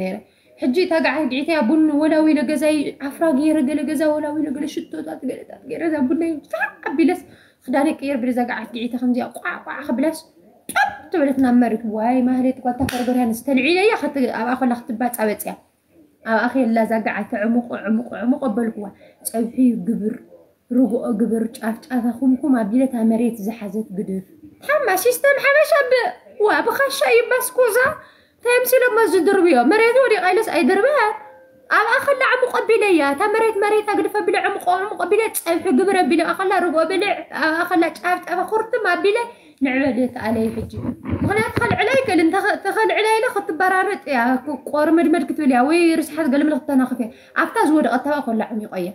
ነይረ። ሕጂ እታ ገዓት ግዒተያ ቡን ወላዊለ ገዛይ ዓፍራ ገይረ፣ ገለ ገዛ ወላዊለ፣ ገለ ሽቶታት ገለታት ገይረ፣ እዛ ቡነይ ብዛዕ ኣቢለስ ክዳነ ቀይር ብለ እዛ ገዓት ግዒተ ከምዚኣ ቋዕ ቋዕ ክብለስ ጨብ ትበለት ናብ መሬት። ዋይ ማህሌት ጓልታ ፈርገርያን ዝተልዒለያ ኣብኣ ኮላ ክትባፃ በፅያ። ኣብኣ ከላ እዛ ገዓት ዕሙቕ ዕሙቕ ዕሙቕ ኣበልኩዋ። ፀብሒ ግብር፣ ርግኦ ግብር፣ ጫፍ ጫፋ ኩምኩም ኣቢለ እታ መሬት ዝሓዘት ግድፍ ሓማ ሲስተም ሓበሻ ብ ዋ ብኻሻ ይባስኩዛ ተምሲሎሞ ዝድርብዮ መሬት ወዲቓ ኢለስ ኣይድርበያን። ኣብኣ ከላ ዕሙቕ ኣቢለ እያ እታ መሬት መሬት ኣግድፍ ኣቢለ ዕሙቕ ዕሙቕ ኣቢለ ፀብሒ ግብር ኣቢለ ኣብኣ ከላ ርግኦ ብልዕ ኣብኣ ከላ ጫፍ ጫፋ ኩርትም ኣቢለ ንዕበል እየ ተኣለይ ሕጂ። ምኽንያቱ ከልዕላ ይክእል እንተ- ተኸልዕላ ኢለ ክትበራረጥ እያ። ቆርመድመድ ክትብል እያ ወይ ርስሓት ገልምል ክተናኽፍ እያ። ኣብታ ዝወደቐት ተባ ኮላ ዕሚቆ እያ።